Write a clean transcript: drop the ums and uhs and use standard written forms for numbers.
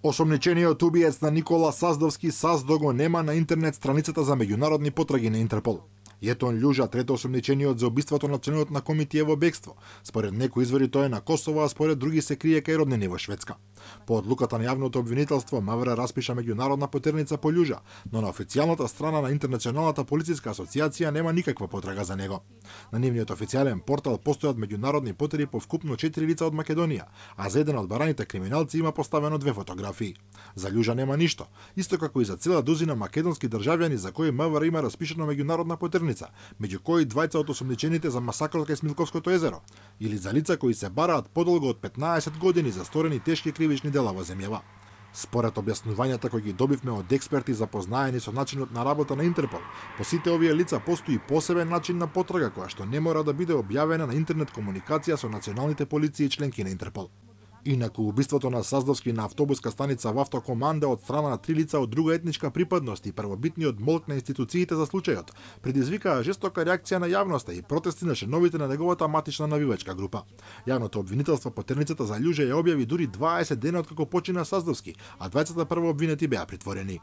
Осомничениот убиец на Никола Саздовски Саздо го нема на интернет страницата за меѓународни потраги на Интерпол. Јетон Љужа, трето осомничениот за убиството на членот на Комитија во бегство. Според некои извори тој е на Косово, а според други се крие кај роднини во Шведска. По одлуката на јавното обвинителство, МВР распиша меѓународна потерница по Љужа, но на официјалната страна на Интернационалната полициска асоциација нема никаква потрага за него. На нивниот официјален портал постојат меѓународни потери по вкупно 4 лица од Македонија, а за еден од бараните криминалци има поставено 2 фотографии. За Љужа нема ништо, исто како и за цела дузина македонски државјани за кои МВР има распишано меѓународна потерница, меѓу кои двајца од осомничените за масакрот кај Смилковското езеро, или за лица кои се бараат подолго од 15 години за сторени тешки кривични дела во земјава. Според објаснувањата кои ги добивме од експерти запознаени со начинот на работа на Интерпол, по сите овие лица постои посебен начин на потрага која што не мора да биде објавена на интернет комуникација со националните полиции и членки на Интерпол. Инаку убиството на Саздовски на автобуска станица во автокоманда од страна на 3 лица од друга етничка припадност и првобитниот молк на институциите за случајот предизвикаа жестока реакција на јавноста и протести на членовите на неговата матична навивачка група. Јавното обвинителство потерницата за Љужа ја објави дури 20 дена откако почина Саздовски, а двајцата прво обвинети беа притворени.